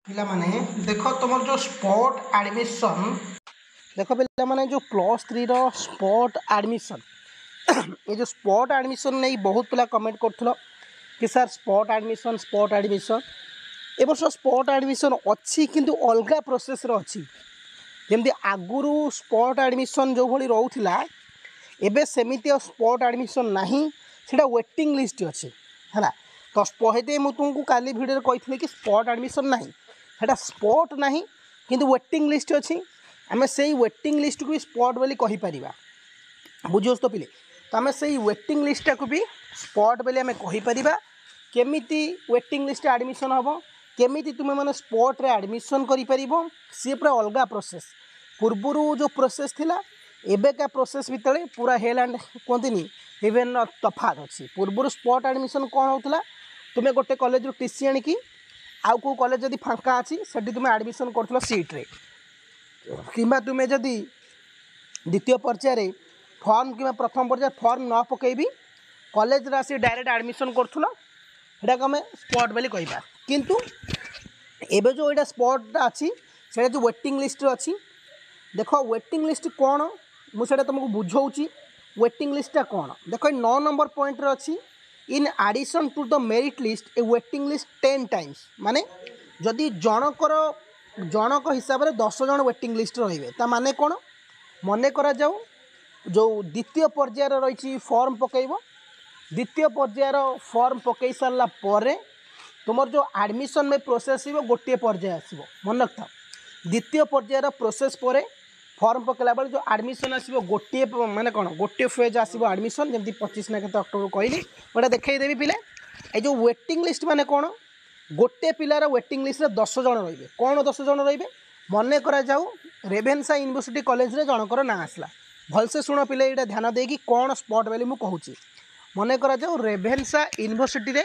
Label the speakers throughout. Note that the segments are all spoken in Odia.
Speaker 1: ପିଲାମାନେ ଦେଖ, ତୁମର ଯେଉଁ ସ୍ପଟ୍ ଆଡ଼ମିସନ୍ ଦେଖ ପିଲାମାନେ, ଯେଉଁ +3ର ସ୍ପଟ୍ ଆଡ଼ମିସନ୍, ଏ ଯେଉଁ ସ୍ପଟ୍ ଆଡ଼ମିସନ୍ ନେଇ ବହୁତ ପିଲା କମେଣ୍ଟ କରୁଥିଲ କି sir, spot admission, spot admission. ଏ ବର୍ଷ ସ୍ପଟ୍ ଆଡ଼ମିସନ୍ ଅଛି, କିନ୍ତୁ ଅଲଗା ପ୍ରୋସେସ୍ରେ ଅଛି। ଯେମିତି ଆଗରୁ ସ୍ପଟ୍ ଆଡ଼ମିସନ୍ ଯେଉଁଭଳି ରହୁଥିଲା, ଏବେ ସେମିତି ଆଉ ସ୍ପଟ୍ ଆଡ଼ମିସନ୍ ନାହିଁ। ସେଇଟା ୱେଟିଂ ଲିଷ୍ଟ ଅଛି, ହେଲା ତ? ସେଥିପାଇଁ ମୁଁ ତୁମକୁ କାଲି ଭିଡ଼ିଓରେ କହିଥିଲି କି ସ୍ପଟ୍ ଆଡ଼ମିସନ୍ ନାହିଁ। ସେଇଟା ସ୍ପଟ୍ ନାହିଁ, କିନ୍ତୁ ୱେଟିଂ ଲିଷ୍ଟ ଅଛି। ଆମେ ସେଇ ୱେଟିଂ ଲିଷ୍ଟକୁ ବି ସ୍ପଟ୍ ବୋଲି କହିପାରିବା। ବୁଝିହେଉଛି ତ ପିଲେ? ତ ଆମେ ସେଇ ୱେଟିଂ ଲିଷ୍ଟଟାକୁ ବି ସ୍ପଟ୍ ବୋଲି ଆମେ କହିପାରିବା। କେମିତି ୱେଟିଂ ଲିଷ୍ଟ ଆଡ଼ମିସନ୍ ହେବ, କେମିତି ତୁମେମାନେ ସ୍ପଟ୍ରେ ଆଡ଼ମିସନ୍ କରିପାରିବ, ସିଏ ପୁରା ଅଲଗା ପ୍ରୋସେସ୍। ପୂର୍ବରୁ ଯେଉଁ ପ୍ରୋସେସ୍ ଥିଲା, ଏବେକା ପ୍ରୋସେସ୍ ଭିତରେ ପୁରା ହେଲ୍ ଆଣ୍ଡ କୁହନ୍ତିନି ଇଭେନ୍ ତଫାତ୍ ଅଛି। ପୂର୍ବରୁ ସ୍ପଟ୍ ଆଡ଼ମିସନ୍ କ'ଣ ହେଉଥିଲା? ତୁମେ ଗୋଟେ କଲେଜରୁ ଟି ସି ଆଣିକି ଆଉ କେଉଁ କଲେଜ ଯଦି ଫାଙ୍କା ଅଛି, ସେଠି ତୁମେ ଆଡ଼ମିସନ୍ କରୁଥିଲ ସିଟ୍ରେ, କିମ୍ବା ତୁମେ ଯଦି ଦ୍ୱିତୀୟ ପର୍ଯ୍ୟାୟରେ ଫର୍ମ କିମ୍ବା ପ୍ରଥମ ପର୍ଯ୍ୟାୟରେ ଫର୍ମ ନ ପକାଇବି କଲେଜରେ ଆସି ଡାଇରେକ୍ଟ ଆଡ଼ମିସନ୍ କରୁଥିଲ, ସେଟାକୁ ଆମେ ସ୍ପଟ୍ ବୋଲି କହିବା। କିନ୍ତୁ ଏବେ ଯେଉଁ ଏଇଟା ସ୍ପଟ୍ଟା ଅଛି, ସେଇଟା ଯେଉଁ ୱେଟିଂ ଲିଷ୍ଟରେ ଅଛି। ଦେଖ, ୱେଟିଂ ଲିଷ୍ଟ କ'ଣ, ମୁଁ ସେଇଟା ତୁମକୁ ବୁଝାଉଛି। ୱେଟିଂ ଲିଷ୍ଟଟା କ'ଣ ଦେଖ, ଏଇ 9 ନମ୍ବର ପଏଣ୍ଟରେ ଅଛି, in addition to the merit list, a waiting list 10 times। ମାନେ ଯଦି ଜଣଙ୍କର, ଜଣକ ହିସାବରେ 10 ଜଣ ୱେଟିଂ ଲିଷ୍ଟ ରହିବେ। ତା ମାନେ କ'ଣ? ମନେ କରାଯାଉ ଯେଉଁ ଦ୍ୱିତୀୟ ପର୍ଯ୍ୟାୟରେ ରହିଛି, ଫର୍ମ ପକାଇବ। ଦ୍ୱିତୀୟ ପର୍ଯ୍ୟାୟର ଫର୍ମ ପକାଇ ସାରିଲା ପରେ ତୁମର ଯେଉଁ ଆଡ଼ମିସନ୍ ପାଇଁ ପ୍ରୋସେସ୍ ଆସିବ, ଗୋଟିଏ ପର୍ଯ୍ୟାୟ ଆସିବ। ମନେ ରଖିଥାଅ, ଦ୍ୱିତୀୟ ପର୍ଯ୍ୟାୟର ପ୍ରୋସେସ୍ ପରେ ଫର୍ମ ପକାଇଲା ବେଳେ ଯେଉଁ ଆଡ଼ମିସନ୍ ଆସିବ ଗୋଟିଏ, ମାନେ କ'ଣ, ଗୋଟିଏ ଫେଜ୍ ଆସିବ ଆଡ଼ମିସନ୍, ଯେମିତି 25 ନା କେତେ ଅକ୍ଟୋବର କହିଲି। ମୁଁ ଏଇଟା ଦେଖେଇଦେବି ପିଲେ। ଏଇ ଯେଉଁ ୱେଟିଂ ଲିଷ୍ଟ ମାନେ କ'ଣ? ଗୋଟେ ପିଲାର ୱେଟିଂ ଲିଷ୍ଟରେ 10 ଜଣ ରହିବେ। କ'ଣ 10 ଜଣ ରହିବେ? ମନେ କରାଯାଉ ରେଭେନ୍ସା ୟୁନିଭର୍ସିଟି କଲେଜରେ ଜଣଙ୍କର ନାଁ ଆସିଲା। ଭଲସେ ଶୁଣ ପିଲେ, ଏଇଟା ଧ୍ୟାନ ଦେଇକି, କ'ଣ ସ୍ପଟ୍ ବୋଲି ମୁଁ କହୁଛି। ମନେ କରାଯାଉ ରେଭେନ୍ସା ୟୁନିଭର୍ସିଟିରେ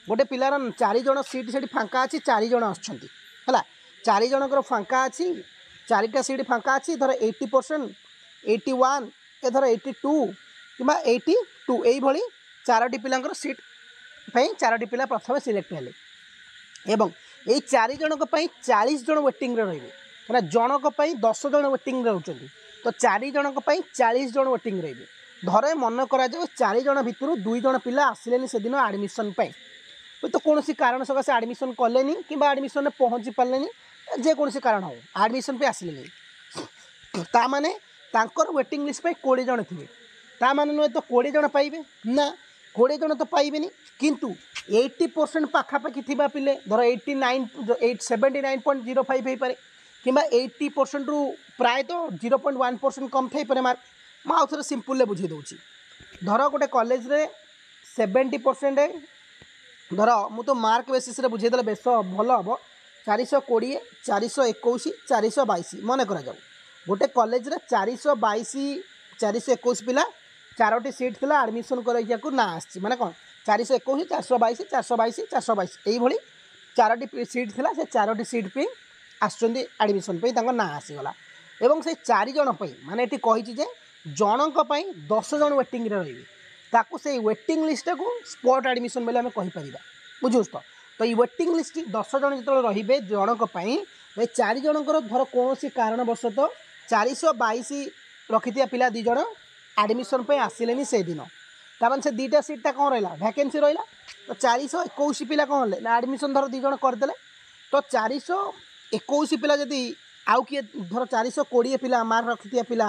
Speaker 1: ଗୋଟେ ପିଲାର ଚାରି ଜଣ ସିଟ୍ ସେଠି ଫାଙ୍କା ଅଛି, ଚାରି ଜଣ ଆସୁଛନ୍ତି, ହେଲା? ଚାରି ଜଣଙ୍କର ଫାଙ୍କା ଅଛି, ଚାରିଟା ସିଟ୍ ଫାଙ୍କା ଅଛି। ଧର 80%, 81, ଏ ଧର 82 କିମ୍ବା 82, ଏଇଭଳି ଚାରୋଟି ପିଲାଙ୍କର ସିଟ୍ ପାଇଁ ଚାରୋଟି ପିଲା ପ୍ରଥମେ ସିଲେକ୍ଟ ହେଲେ ଏବଂ ଏଇ ଚାରି ଜଣଙ୍କ ପାଇଁ 40 ଜଣ ୱେଟିଂରେ ରହିବେ। କାହିଁକିନା ଜଣଙ୍କ ପାଇଁ 10 ଜଣ ୱେଟିଂରେ ରହୁଛନ୍ତି, ତ ଚାରି ଜଣଙ୍କ ପାଇଁ 40 ଜଣ ୱେଟିଂ ରହିବେ। ଧରେ ମନେ କରାଯାଉ ଚାରି ଜଣ ଭିତରୁ ଦୁଇ ଜଣ ପିଲା ଆସିଲେନି ସେଦିନ ଆଡ଼ମିସନ୍ ପାଇଁ। ହୁଏତ କୌଣସି କାରଣ ସକାଶେ ଆଡ଼ମିସନ୍ କଲେନି କିମ୍ବା ଆଡ଼ମିସନ୍ରେ ପହଞ୍ଚି ପାରିଲେନି, ଯେକୌଣସି କାରଣ ହେଉ ଆଡ଼ମିସନ୍ ପାଇଁ ଆସିଲେନି। ତା ମାନେ ତାଙ୍କର ୱେଟିଂ ଲିଷ୍ଟ ପାଇଁ 20 ଜଣ ଥିବେ। ତା ମାନେ ନୁହେଁ ତ 20 ଜଣ ପାଇବେ ନା, 20 ଜଣ ତ ପାଇବେନି। କିନ୍ତୁ 80% ପାଖାପାଖି ଥିବା ପିଲେ, ଧର 89, 8, 79.05 ହେଇପାରେ କିମ୍ବା 80%ରୁ ପ୍ରାୟତଃ 0.1% କମ୍ ଥାଇପାରେ ମାର୍କ। ମୁଁ ଆଉ ଥରେ ସିମ୍ପଲ୍ରେ ବୁଝେଇ ଦେଉଛି। ଧର ଗୋଟେ କଲେଜରେ 70%, ଧର ମୁଁ ତ ମାର୍କ ବେସିସ୍ରେ ବୁଝେଇଦେଲେ ବେଶ ଭଲ ହେବ। 420, 421, 422। ମନେ କରାଯାଉ ଗୋଟେ କଲେଜରେ 422, 421 ପିଲା, ଚାରୋଟି ସିଟ୍ ଥିଲା, ଆଡ଼ମିସନ୍ କରିବାକୁ ନାଁ ଆସିଛି। ମାନେ କ'ଣ? 421, 422, 422, 422, ଏଇଭଳି ଚାରୋଟି ସିଟ୍ ଥିଲା। ସେ ଚାରୋଟି ସିଟ୍ ପାଇଁ ଆସୁଛନ୍ତି ଆଡ଼ମିସନ୍ ପାଇଁ, ତାଙ୍କ ନାଁ ଆସିଗଲା ଏବଂ ସେଇ ଚାରି ଜଣ ପାଇଁ, ମାନେ ଏଠି କହିଛି ଯେ ଜଣଙ୍କ ପାଇଁ 10 ଜଣ ୱେଟିଂରେ ରହିବେ, ତାକୁ ସେଇ ୱେଟିଂ ଲିଷ୍ଟଟାକୁ ସ୍ପଟ୍ ଆଡ଼ମିସନ୍ ବୋଲି ଆମେ କହିପାରିବା। ବୁଝୁଛୁ ତ? ତ ଏଇ ୱେଟିଂ ଲିଷ୍ଟ 10 ଜଣ ଯେତେବେଳେ ରହିବେ ଜଣଙ୍କ ପାଇଁ, ଏ ଚାରି ଜଣଙ୍କର ଧର କୌଣସି କାରଣବଶତଃ 422 ରଖିଥିବା ପିଲା ଦୁଇ ଜଣ ଆଡ଼ମିସନ୍ ପାଇଁ ଆସିଲେନି ସେଇଦିନ। ତାମାନେ ସେ ଦୁଇଟା ସିଟ୍ଟା କ'ଣ ରହିଲା? ଭ୍ୟାକେନ୍ସି ରହିଲା। ତ 421 ପିଲା କ'ଣ ହେଲେ ନା ଆଡ଼ମିସନ୍ ଧର ଦୁଇ ଜଣ କରିଦେଲେ, ତ 421 ପିଲା ଯଦି ଆଉ କିଏ ଧର 420 ପିଲା ମାର୍କ ରଖିଥିବା ପିଲା,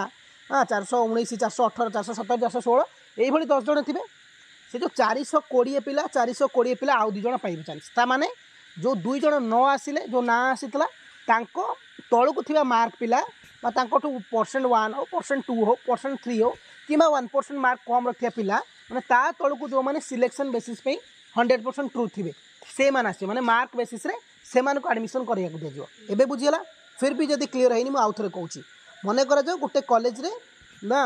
Speaker 1: ହଁ, 419, 418, 417, 416, ଏଇଭଳି 10 ଜଣ ଥିବେ। ସେ ଯେଉଁ 420 ପିଲା, 420 ପିଲା ଆଉ ଦୁଇ ଜଣ ପାଇବେ ଚାନ୍ସ। ତାମାନେ ଯେଉଁ ଦୁଇ ଜଣ ନ ଆସିଲେ, ଯେଉଁ ନାଁ ଆସିଥିଲା, ତାଙ୍କ ତଳକୁ ଥିବା ମାର୍କ ପିଲା ବା ତାଙ୍କଠୁ %1 ହଉ, %2 ହଉ, %3 ହଉ କିମ୍ବା 1% ମାର୍କ କମ୍ ରଖିଥିବା ପିଲା, ମାନେ ତା ତଳକୁ ଯେଉଁମାନେ ସିଲେକ୍ସନ୍ ବେସିସ୍ ପାଇଁ 100% ଟ୍ରୁ ଥିବେ, ସେମାନେ ଆସିବେ। ମାନେ ମାର୍କ ବେସିସ୍ରେ ସେମାନଙ୍କୁ ଆଡ଼ମିସନ୍ କରିବାକୁ ଦିଆଯିବ। ଏବେ ବୁଝିଗଲା? ଫିର୍ ବି ଯଦି କ୍ଲିଅର୍ ହେଇନି, ମୁଁ ଆଉ ଥରେ କହୁଛି। ମନେ କରାଯାଉ ଗୋଟେ କଲେଜରେ ନା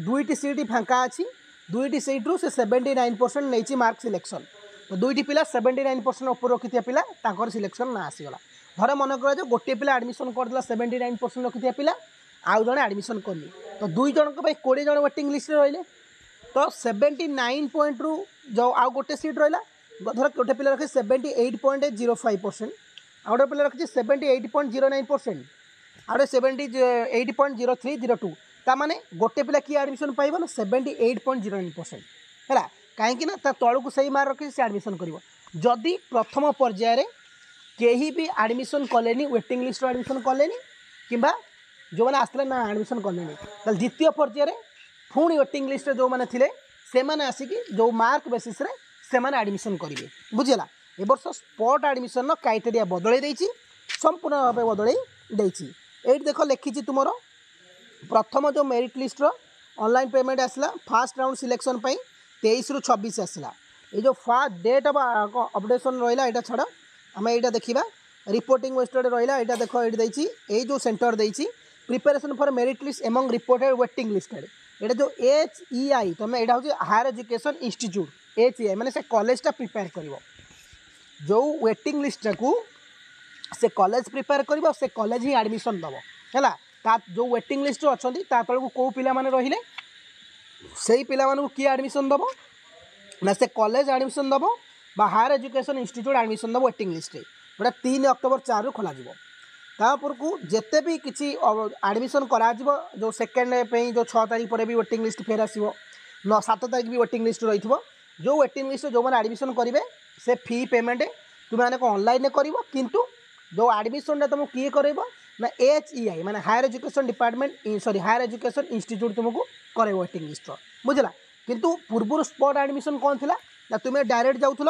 Speaker 1: ଦୁଇଟି ସିଟ୍ ଫାଙ୍କା ଅଛି। ଦୁଇଟି ସିଟ୍ରୁ ସେ 79% ନେଇଛି ମାର୍କ ସିଲେକ୍ସନ୍। ତ ଦୁଇଟି ପିଲା 79% ଉପରେ ରଖିଥିବା ପିଲା, ତାଙ୍କର ସିଲେକ୍ସନ୍ ନାଁ ଆସିଗଲା। ଧର ମନେ କରାଯାଉ ଗୋଟିଏ ପିଲା ଆଡ଼ମିସନ୍ କରିଦେଲା, 79% ରଖିଥିବା ପିଲା, ଆଉ ଜଣେ ଆଡ଼ମିସନ୍ କରିନି। ତ ଦୁଇ ଜଣଙ୍କ ପାଇଁ 20 ଜଣ ୱେଟିଂ ଲିଷ୍ଟରେ ରହିଲେ। ତ 79 ପଏଣ୍ଟରୁ ଯେଉଁ ଆଉ ଗୋଟେ ସିଟ୍ ରହିଲା, ଧର ଗୋଟେ ପିଲା ରଖି 78.05%, ଆଉ ଗୋଟେ ପିଲା ରଖିଛି 78.09%, ଆଉ ଗୋଟେ 78.0302। ତାମାନେ ଗୋଟେ ପିଲା କିଏ ଆଡ଼ମିସନ୍ ପାଇବ ନା 78.09%। ହେଲା, କାହିଁକି ନା ତା ତଳକୁ ସେଇ ମାର୍କ ରଖିଛି, ସେ ଆଡ଼ମିସନ୍ କରିବ। ଯଦି ପ୍ରଥମ ପର୍ଯ୍ୟାୟରେ କେହି ବି ଆଡ଼ମିସନ୍ କଲେନି, ୱେଟିଂ ଲିଷ୍ଟରୁ ଆଡ଼ମିସନ୍ କଲେନି କିମ୍ବା ଯେଉଁମାନେ ଆସିଥିଲେ ନା ଆଡ଼ମିସନ୍ କଲେନି, ତାହେଲେ ଦ୍ୱିତୀୟ ପର୍ଯ୍ୟାୟରେ ପୁଣି ୱେଟିଂ ଲିଷ୍ଟରେ ଯେଉଁମାନେ ଥିଲେ ସେମାନେ ଆସିକି ଯେଉଁ ମାର୍କ ବେସିସ୍ରେ ସେମାନେ ଆଡ଼ମିସନ୍ କରିବେ। ବୁଝିହେଲା? ଏ ବର୍ଷ ସ୍ପଟ୍ ଆଡ଼ମିସନ୍ର କ୍ରାଇଟେରିଆ ବଦଳେଇ ଦେଇଛି, ସମ୍ପୂର୍ଣ୍ଣ ଭାବେ ବଦଳେଇ ଦେଇଛି। ଏଇଠି ଦେଖ ଲେଖିଛି, ତୁମର ପ୍ରଥମ ଯେଉଁ ମେରିଟ୍ ଲିଷ୍ଟର ଅନଲାଇନ୍ ପେମେଣ୍ଟ ଆସିଲା ଫାର୍ଷ୍ଟ ରାଉଣ୍ଡ ସିଲେକ୍ସନ୍ ପାଇଁ 23ରୁ 26 ଆସିଲା। ଏଇ ଯେଉଁ ଫାର୍ଷ୍ଟ ଡେଟ୍ ଅଫ୍ ଅପଡେସନ୍ ରହିଲା, ଏଇଟା ଛାଡ଼, ଆମେ ଏଇଟା ଦେଖିବା। ରିପୋର୍ଟିଂ ୱେଷ୍ଟେଡ଼ ରହିଲା, ଏଇଟା ଦେଖ, ଏଇଠି ଦେଇଛି, ଏଇ ଯେଉଁ ସେଣ୍ଟର ଦେଇଛି, preparation for merit list among reported waiting listed. ଏଇଟା ଯେଉଁ HEI, ତୁମେ ଏଇଟା ହେଉଛି higher education institute, HEI ମାନେ ସେ କଲେଜଟା ପ୍ରିପେୟାର କରିବ। ଯେଉଁ ୱେଟିଂ ଲିଷ୍ଟଟାକୁ ସେ କଲେଜ ପ୍ରିପେୟାର କରିବ, ସେ କଲେଜ ହିଁ ଆଡ଼ମିସନ୍ ଦେବ। ହେଲା, ତା ଯେଉଁ ୱେଟିଂ ଲିଷ୍ଟରେ ଅଛନ୍ତି, ତା ତଳକୁ କେଉଁ ପିଲାମାନେ ରହିଲେ, ସେଇ ପିଲାମାନଙ୍କୁ କିଏ ଆଡ଼ମିସନ୍ ଦେବ ନା ସେ କଲେଜ ଆଡ଼ମିସନ୍ ଦେବ ବା ହାୟର ଏଜୁକେସନ୍ ଇନଷ୍ଟିଚ୍ୟୁଟ୍ ଆଡ଼ମିସନ୍ ଦେବ ୱେଟିଂ ଲିଷ୍ଟରେ। ଗୋଟେ 3 ଅକ୍ଟୋବର 4ରୁ ଖୋଲାଯିବ। ତାପରକୁ ଯେତେ ବି କିଛି ଆଡ଼ମିସନ୍ କରାଯିବ, ଯେଉଁ ସେକେଣ୍ଡ ପାଇଁ ଯେଉଁ 6 ତାରିଖ ପରେ ବି ୱେଟିଂ ଲିଷ୍ଟ ଫେର୍ ଆସିବ, 9 7 ତାରିଖ ବି ୱେଟିଂ ଲିଷ୍ଟ ରହିଥିବ। ଯେଉଁ ୱେଟିଂ ଲିଷ୍ଟରେ ଯେଉଁମାନେ ଆଡ଼ମିସନ୍ କରିବେ, ସେ ଫି ପେମେଣ୍ଟ ତୁମେମାନେ କ'ଣ ଅନଲାଇନ୍ରେ କରିବ, କିନ୍ତୁ ଯେଉଁ ଆଡ଼ମିସନ୍ଟା ତୁମକୁ କିଏ କରାଇବ ନା HEI, ମାନେ higher education department, sorry, higher education institute ତୁମକୁ କରାଇବ ୱେଟିଂ ଲିଷ୍ଟର। ବୁଝିଲା? କିନ୍ତୁ ପୂର୍ବରୁ ସ୍ପଟ୍ ଆଡ଼ମିସନ୍ କ'ଣ ଥିଲା ନା ତୁମେ ଡାଇରେକ୍ଟ ଯାଉଥିଲ,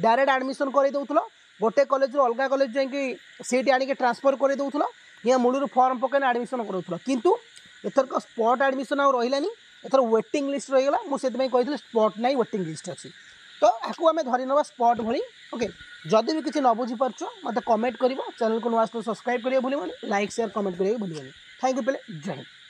Speaker 1: ଡାଇରେକ୍ଟ ଆଡ଼ମିସନ୍ କରାଇ ଦେଉଥିଲ, ଗୋଟେ କଲେଜରୁ ଅଲଗା କଲେଜ ଯାଇକି ସିଟ୍ ଆଣିକି ଟ୍ରାନ୍ସଫର୍ କରାଇ ଦେଉଥିଲ, ୟା ମୂଳରୁ ଫର୍ମ ପକାଇନା ଆଡ଼ମିସନ୍ କରାଉଥିଲ। କିନ୍ତୁ ଏଥରକ ସ୍ପଟ୍ ଆଡ଼ମିସନ୍ ଆଉ ରହିଲାନି, ଏଥର ୱେଟିଂ ଲିଷ୍ଟ ରହିଗଲା। ମୁଁ ସେଥିପାଇଁ କହିଥିଲି ସ୍ପଟ୍ ନାହିଁ, ୱେଟିଂ ଲିଷ୍ଟ ଅଛି। ତ ଆକୁ ଆମେ ଧରି ନେବା ସ୍ପଟ୍ ଭଳି। ଓକେ, ଯଦି ବି କିଛି ନ ବୁଝିପାରୁଛ, ମୋତେ କମେଣ୍ଟ କରିବ। ଚ୍ୟାନେଲକୁ ନୂଆ ଆସିଲେ ସବସ୍କ୍ରାଇବ୍ କରିବାକୁ ଭୁଲିବନି, ଲାଇକ୍, ସେୟାର, କମେଣ୍ଟ କରିବାକୁ ଭୁଲିବନି। Thank you ପିଲେ, ଜୟ ହିନ୍ଦ।